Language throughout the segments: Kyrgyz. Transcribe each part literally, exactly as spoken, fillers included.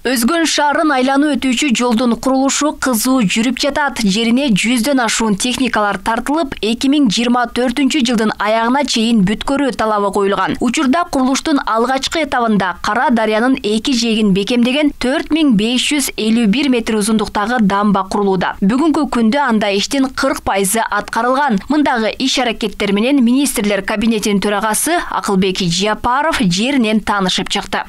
Өзгөн шаарын айланып өтүүчү жолдун курулушу кызуу жүрүп жатат. Жерине жүздөн ашуун техникалар тартылып, эки миң жыйырма төртүнчү жылдын аягына чейин бүткөрүү талабы коюлган. Учурда курулуштун алгачкы этабында Кара Дарыянын эки жээгин бекемдеген төрт миң беш жүз элүү бир метр узундуктагы дамба курулууда. Бүгүнкү күндө анда иштин кырк пайызы аткарылган. Мындагы иш аракеттер менен министрлер кабинетинин төрагасы Акылбек Жапаров жеринен таанышып чыкты.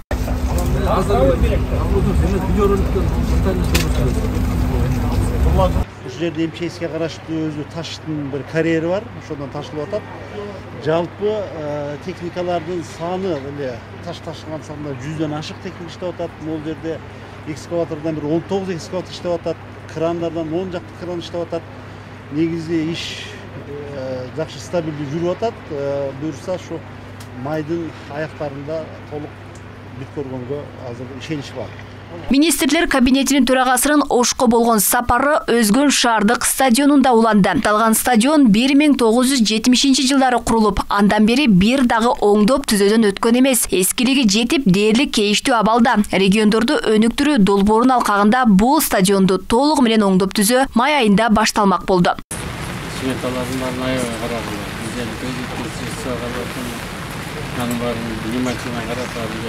Ушул жерде МЧСке караштуу өзү таштын бир карьери бар, ошондон ташылып атат. Жалпы техникалардын саны эле таш ташыган саны жүздөн ашык техника иштеп атат. Могул жерде экскаватордон бир он тогуз экскаватор иштеп атат, крандардан он жакты кран иштеп атат. Негизи иш жакшы стабилдүү жүрүп атат. Буюрса ошо майдын аяктарында толук бүткөргөнгө азыр ишенич бар. Министрлер кабинетинин төрагасынын Ошко болгон сапары Өзгөн шаардык стадионунда уланды. Талган стадион бир миң тогуз жүз жетимишинчи жылдары курулуп, андан бери бир дагы оңдоп түзөөдөн өткөн эмес. Эскилиги жетип, дээрлик кейиштүү абалда. Региондорду өнүктүрүү долбоорунун алкагында бул стадионду толугу менен оңдоп түзөө май айында башталмак болду. Сметалардын баарын аябай карадым. Анын баарын внимательно карап алып,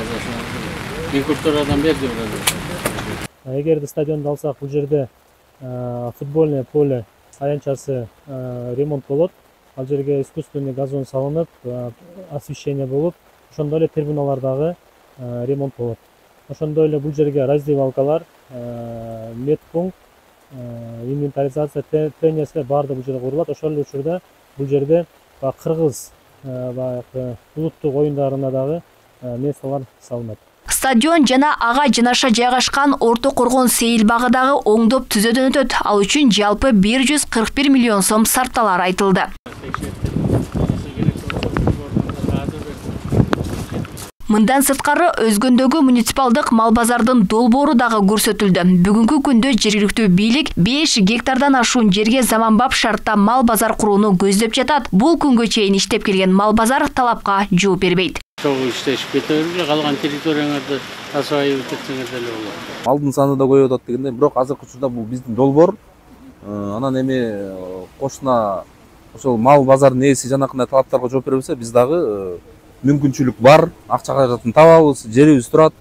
рекурстордон берди бирок. Эгерде стадионду алсак, бул жерде футбольное поле аянтчасы ремонт болот. Ал жерге искусственный газон салынып, освещение болуп, ошондой эле трибуналар дагы ремонт болот. Ошондой эле бул жерге раздевалкалар, медпункт, инвентаризация, тренерская баардыгы бул жерде курулат. Ошол эле учурда бул жерде кыргыз баягы улуттук оюндарына дагы месталар салынат. Стадион жана ага жанаша жайгашкан Орто Коргон сейил багы дагы оңдоп түзөөдөн өтөт. Ал үчүн жалпы бир жүз кырк бир миллион сом сарпталар айтылды. Мындан сырткары Өзгөндөгү муниципалдык мал базардын долбоору дагы көрсөтүлдү. Бүгүнкү күндө жергиликтүү бийлик беш гектардан ашуун жерге заманбап шартта мал базар курууну көздөп жатат. Бул күнгө чейин иштеп келген мал базар талапка жооп бербейт. Чогуу иштешип кетебиз, калган территорияңарды асайып кетсеңер деле болот. Малдын саны да көбөйүп атат дегенде, бирок азыркы учурда бул биздин долбоор. Анан эми кошуна ошол мал базардын ээси жанакындай талаптарга жооп бере билсе, биз дагы мүмкүнчүлүк бар, акча каражатын табабыз, жерибиз турат.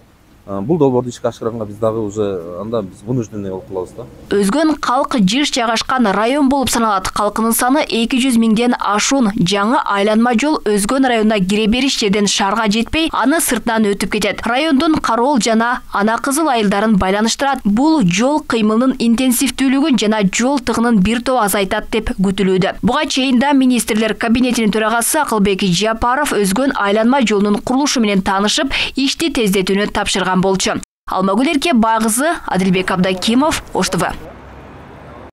Бул долбоорду ишке ашырганга биз дагы уже анда биз вынужденный болуп калабыз да. Өзгөн калк жыш жайгашкан район болуп саналат. Калкынын саны эки жүз миңден ашуун. Жаңы айланма жол Өзгөн районуна кире бериш жерден шаарга жетпей, аны сыртынан өтүп кетет. Райондун Кароол жана Ана Кызыл айылдарын байланыштырат. Бул жол кыймылынын интенсивдүүлүгүн жана жол тыгынын бир топ азайтат деп күтүлүүдө. Буга чейин да министрлер кабинетинин төрагасы Акылбек Жапаров Өзгөн айланма жолунун курулушу менен таанышып, ишти тездетүүнү тапшырган болчу. Алмагүл Эрке Багызы, Адилбек Абдакимов, Ош Т В.